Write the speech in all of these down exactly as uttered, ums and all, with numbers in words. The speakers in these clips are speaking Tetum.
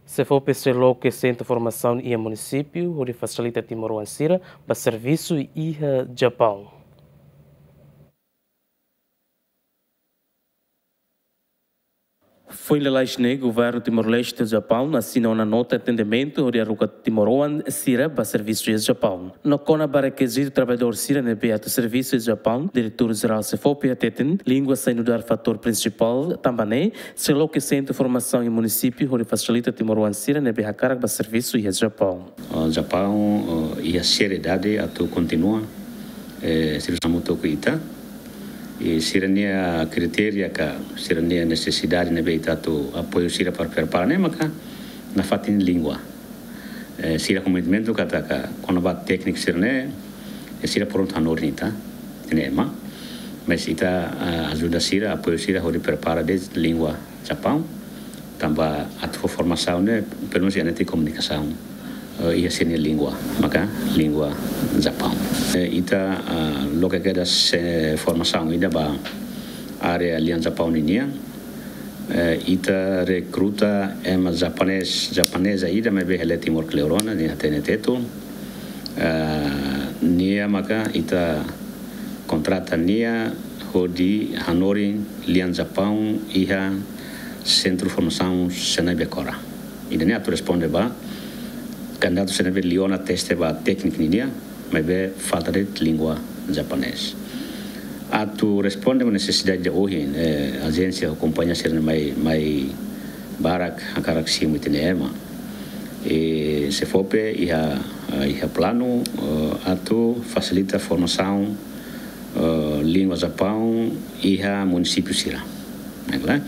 SEFOPE sei loke sentru formasaun iha munisípiu hodi fasilita timoroan sira ba servisu iha Japaun. Foin lalais ne'e, Governu Timor-Leste Japaun asina ona nota entendimentu hodi haruka timoroan sira ba servisu iha Japaun. No kona-ba rekizitu traballadór sira ne'ebé atu servisu iha Japaun, Diretór Jerál SEFOPE hateten, língua sai nu'udar fatór prinsipál, tanba ne'e sei loke sentru formasaun iha munisípiu hodi fasilita timoroan sira ne'ebé hakarak ba servisu iha Japaun. Ah, Japaun, ah, iha seriedade atu kontinua, eh, servisu hamutuk ho ita. I sira-nia kritéria ka sira-nia nesesidade ne'ebé ita atu apoiu sira para prepara ne'e maka nafatin língua. Eh, sira komitmentu katak kona-ba tékniku sira-ne'e, eh, sira prontu hanorin ita, ita-nia ema. Mas ita, ah, ajuda sira, apoiu sira hodi prepara de'it língua Japaun. Tanba atu fó formasaun ne'e, pelumenus iha netik komunikasaun, eh, iha sira-nia língua, maka língua Japaun. Eh, ita, ah, loke kedas, eh, formasaun ida ba área lian Japaun ninian. Eh, ita rekruta ema japonés, japoneza ida maibé hela iha Timor kleur ona, nia hatene Tetun. Eh, nia maka ita kontrata nia hodi hanorin lian Japaun iha sentru formasaun Senai Becora. Ida-ne'e atu responde ba kandidatu sira ne'ebé liu ona teste ba tékniku ninian, maibé falta de'it língua japonés. Atu responde ba nesesidade ohin, eh, ajénsia ho kompañia sira-ne'e mai, mai barak hakarak simu ita-nia ema. I SEFOPE iha, iha planu, eh, atu fasilita formasaun, eh, língua Japaun iha munisípiu sira. Ne'e ka lae?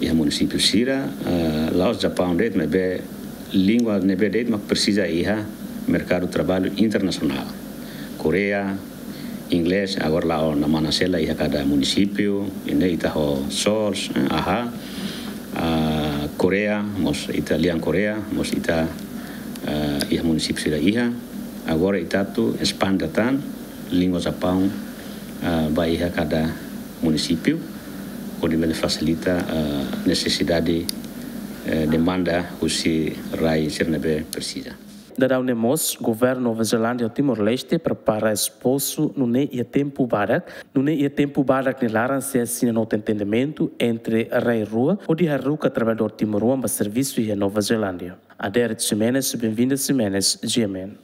Iha munisípiu sira, eh, la'ós Japaun de'it, maibé língua ne'ebé de'it mak presiza iha merkadu traballu internasionál. Koreia, inglés, agora la'o namana sela iha kada munisípiu, ida-ne'e ita ho SORS, eh, aha, ah, Koreia, mós ita lian Koreia, mós ita, ah, iha munisípiu sira iha. Agora ita atu espande tan língua Japaun, ah, ba iha kada munisípiu, hodi bele fasilita, ah, nesesidade, eh, demanda husi rai sira ne'ebé presiza. Daudaun ne'e mós, Governu Nova Zelándia ho Timor-Leste prepara espozu nune'e iha tempu badak, nune'e iha tempu badak nia laran sei asina nota entendimentu entre rai rua, hodi haruka traballadór timoroan ba servisu iha Nova Zelándia. Adérito Ximenes, Benvinda Ximenes, G M N.